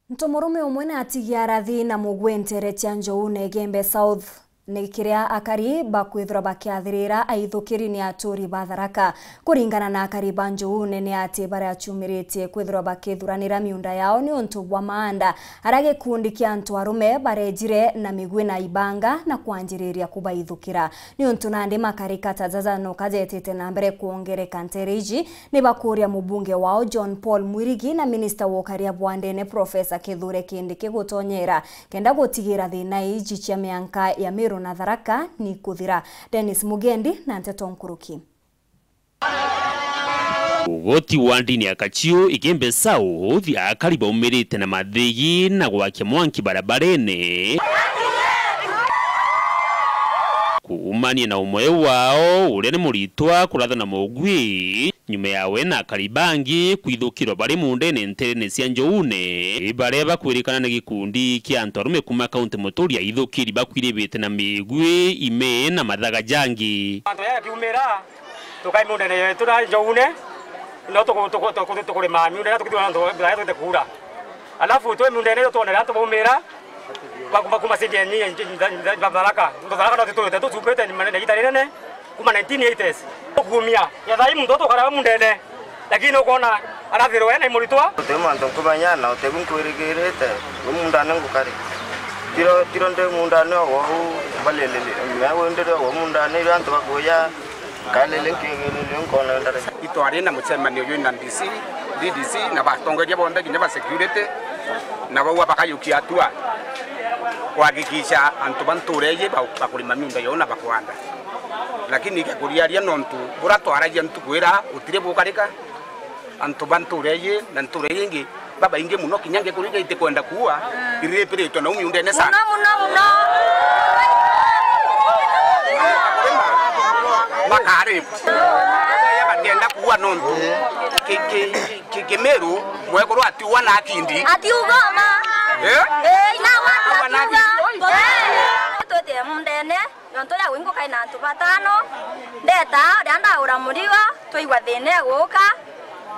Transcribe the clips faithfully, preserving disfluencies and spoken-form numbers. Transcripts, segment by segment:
Ntomurume umwe ni atigia arathi na mugwi nteere cia Njoune Igembe South. Ni kiria akari bakwithirwa bakiathirira aithukiri ni aturi ba Tharaka. Kuringana na akari ba Njoune ni ati baria acumiritie kwithirwa bakithuranira miunda yao niuntu bwa maanda aria gikundi kia antu arume barejire na migwi na ibanga na kwanjiriria kubaithukira. Niuntu nandi makarika ta jaja no kajetite na mbere kwongereka nteere iji, ni bakuria mubunge wao John Paul Mwirigi na minista wa ukaria bwa ndene Professor Kithure Kindiki gutonyera kenda gutigira thina iji cia mianka ya Meru na Tharaka ni kuthira. Dennis Mugendi na nteto nkuruki. Ugoti wa ndini ya Kachiu Igembe South, akari baumirite na mathigi na gwakia mwanki barabarene kuumania na umwe wao uria ni muritwa kuratha na mugwi. Nyuma yawe na akari bangi kwithukirwa bari mundene nterene cia Njoune, baria bakwirikana ni gikundi kia antu arume kuma kaunti Muturi aithukiri bakwiribite na migwi, ime na mathaga jangi. Antu aya kiumira, tukai mundene yetu na Njoune, no tuku-, tuku-, tuku-, tukurima miunda iria tukithua na antu aya twite kuura. Alafu twi mundene yo twonere antu baumira, Ba-, ba-, kuma sindi ya ni, ya, ya, ya, ya Tharaka. Muntu Tharaka no tutwite tucupite ni manene gita rinene, kuma nineteen eighties. Tukumia. Ya thai muntu tukara mundene. Lakini ukona arathirwe na imuritwa. Uti mantu nkumenya na uti bu nkwirigirite. Wi mundane ngukari. Tiro, tiro ndi mundane ogo u balelele. Me wendere ogo mundane irio antu bakuya. Kalele nkigirire nkona ndare. Itwari na mucemanio uyu na D C, D D C na batongeria bonthe kinya ba security, na bauga bakayukia hatua kuhakikisha antu ba ntuura iji ba-, bakurima miunda yao na bakwanda. Lakini ikakuriaria nontu bura twaragia ntuku ira utiri bukarika, antu ba ntuura iji na ntuura iji ingi babaingi muno, kinya ngikuri iria itikwenda kuua, iripiritwe nau miundene sana. Muno, muno, muno. Bakarip. Bakenda kuua nontu ki-, ki-, ki-, Kimiru, mwekuru atiua na akindi. Atiuga ma. Eh? Eh, ina watu atiuga. Twete mundene. Nontu ria gwingukai na antu batano, ndeta, ria ndaura murigo, twaigua thina iguka,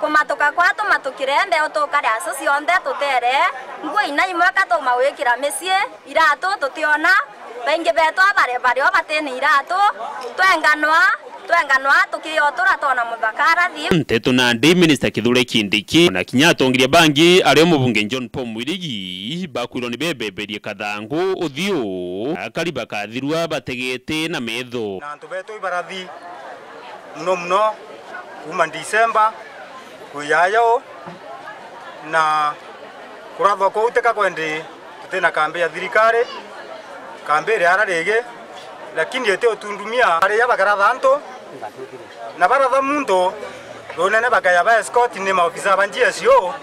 kumatuka kwa tumatukire, mbeu tukaria acio cionthe tutere, nguo ina imwe ka tuma gwikira micii, iratu tutiona, baingi betu abare bario batini iratu, twenganwa, twenganwa tukiotura twona muthaka arathi. Nteto nandi Minister Kithure Kindiki, na kinya atongeria bangi ario mubunge John Paul Mwirigi, bakwirwo ni bebeberie kathangu uthiu, akari bakathirwa bategete na metho. Na antu betu ibarathi muno muno kuma December kwiyayo, na kurathwa kuu tika kwendi tutina kambi ya thirikari, kambi iri ara rigi, lakini iti utundumia. Aria bakaratha antu, na baratha muntu, runene bakaya ba escort ni maofisa ba G S O,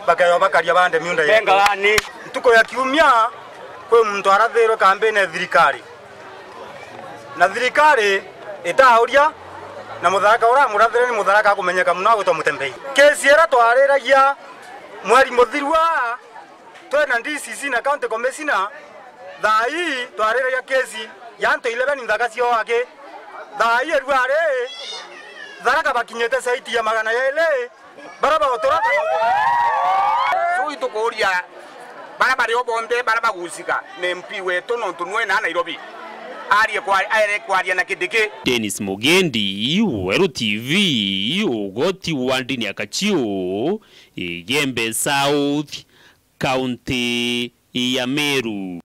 bakaya bakaria bande miunda yetu. Bengalani. Ntuku ya kiumia, kwi muntu arathirwe kambine ya thirikari. Na thirikari itauria, na mutharaka uria amurathire ni mutharaka akumenyeka muno agwitwa Mutembei. Kesi ira twariragia mweri muthiru aa, twina D C C na County Commissioner, thaa ii twariragia kesi ya antu eleven nthaka ciao aki. Thaa ii erua ari, Tharaka bakinyite saiti ya magana yairi, bara baotora. So itukuria bara bario bonthe bara bagucika ni M P wetu, nontu nwe na Nairobi arie kwa-, aere kwaria na Kindiki. Dennis Mugendi, Weru T V, ugoti wa ndini ya Kachiu, Igembe South, kaunti ya Meru.